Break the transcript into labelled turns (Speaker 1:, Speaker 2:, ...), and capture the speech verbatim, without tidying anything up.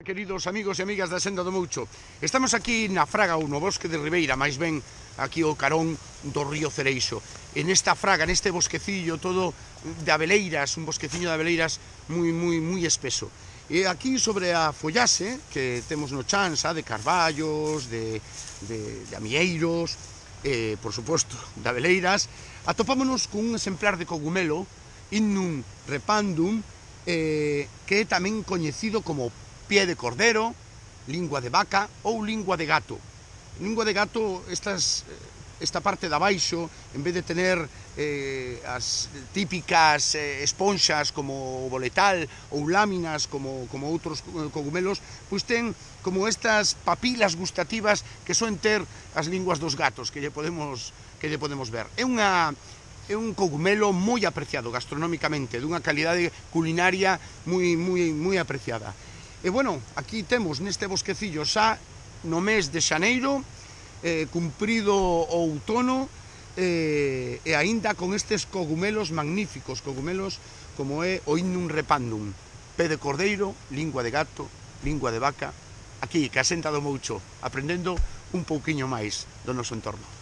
Speaker 1: Queridos amigos e amigas da Senda do Moucho, estamos aquí na Fraga ou no bosque de Ribeira, máis ben aquí o carón do río Cereixo. En esta fraga, neste bosquecillo todo de abeleiras, un bosqueciño de abeleiras moi, moi, moi espeso. E aquí sobre a follase que temos no chan, xa, de carballos, de, de, de amieiros, e, por suposto, de abeleiras, atopámonos cun exemplar de cogumelo, Innum repandum, eh, que é tamén coñecido como pie de cordero, lingua de vaca ou lingua de gato. Lingua de gato, estas, esta parte de abaixo, en vez de tener eh, as típicas eh, esponxas como o boletal ou láminas como, como outros cogumelos, pois ten como estas papilas gustativas que soen ter as linguas dos gatos, que lle podemos, que lle podemos ver. É unha... É un cogumelo moi apreciado gastronómicamente, dunha calidade culinaria moi, moi, moi apreciada. E, bueno, aquí temos neste bosquecillo xa no mes de xaneiro, eh, cumprido o outono, eh, e aínda con estes cogumelos magníficos, cogumelos como é o Innum repandum, pé de cordeiro, lingua de gato, lingua de vaca, aquí, que a Senda do Moucho, aprendendo un pouquiño máis do noso entorno.